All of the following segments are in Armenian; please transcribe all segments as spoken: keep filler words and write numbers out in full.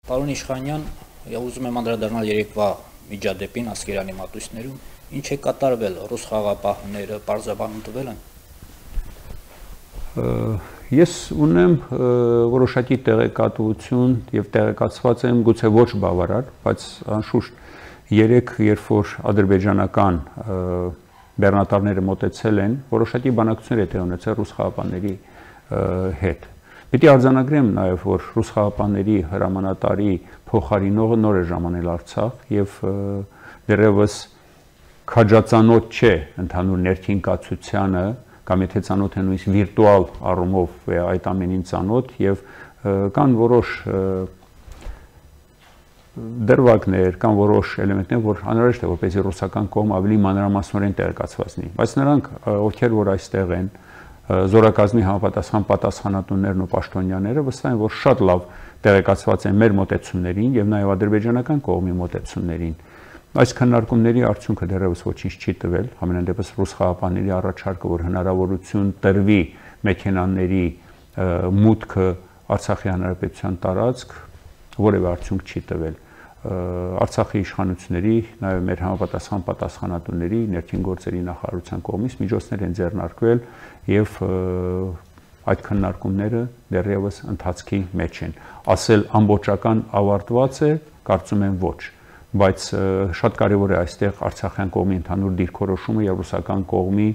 Պարոն Իշխանյան, ուզում եմ անդրադառնալ երեկվա միջադեպին Ասկերանի մատույցներում, ինչ է կատարվել, ռուս խաղաղապահները պարզաբանում տվել են։ Ես ունեմ որոշակի տեղեկատվություն եւ տեղեկացված եմ գուցե ոչ բավարար, բայց անշուշտ երեք երբ որ ադրբեջանական բեռնատարները մոտեցել են, որոշակի բանակցություններ է տեղի ունեցել ռուս խաղաղապահների հետ։ Պետք է արձանագրեմ նաև, որ ռուս խաղաղապահների հրամանատարի փոխարինողը նոր է ժամանել Արցախ եւ դեռևս քաջածանոթ չէ ընդհանուր ներքին կացությանը, կամ եթե ծանոթ է նույնիսկ վիրտուալ առումով այդ ամենին ծանոթ եւ կան որոշ դրվագներ, կան որոշ էլեմենտներ, որ անհրաժեշտ է որպեսզի ռուսական կողմը ավելի մանրամասնորեն տեղեկացված լինի, բայց նրանք ովքեր որ այստեղ են զորակազմի համապատասխան պատասխանատուներն ու պաշտոնյաները վստահ են, որ շատ լավ տեղեկացված են մեր մոտեցումներին եւ նաեւ ադրբեջանական կողմի մոտեցումներին։ Այս քննարկումների արդյունքը դեռևս ոչինչ չի տվել, համենայն դեպս ռուս խաղաղապահների առաջարկը, որ հնարավորություն տրվի մեքենաների մուտքը Արցախի հանրապետության տարածք, որևէ արդյունք չի տվել։ Արցախի իշխանությունների, նաեւ մեր համապատասխան պատասխանատուների, ներքին գործերի նախարարության կողմից միջոցներ են ձեռնարկվել եւ այդ քննարկումները դեռևս ընթացքի մեջ են։ Ասել ամբողջական ավարտված է, կարծում եմ ոչ, բայց շատ կարեւոր է այստեղ Արցախյան կողմի ընդհանուր դիրքորոշումը եւ ռուսական կողմի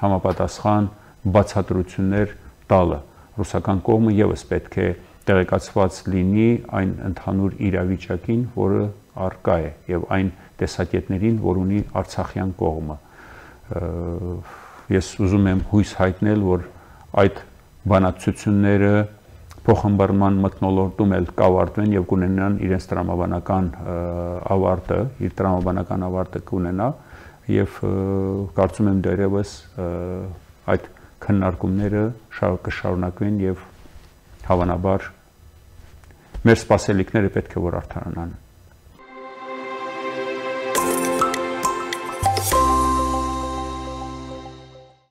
համապատասխան բացատրություններ տալը։ Ռուսական կողմը եւս պետք է տեղեկացված լինի այն ընդհանուր իրավիճակին, որը առկա է եւ այն տեսակետներին, որ ունի Արցախյան կողմը։ Ես ուզում եմ հույս հայտնել, որ այդ բանակցությունները փոխհմբռնման մթնոլորտում էլ կավարտվեն եւ կունենան իրենց տրամաբանական ավարտը, իր տրամաբանական ավարտը կունենա եւ կարծում եմ դեռևս այդ քննարկումները կշարունակվեն եւ հավանաբար մեր սպասելիքները պետք է որ արդարանան։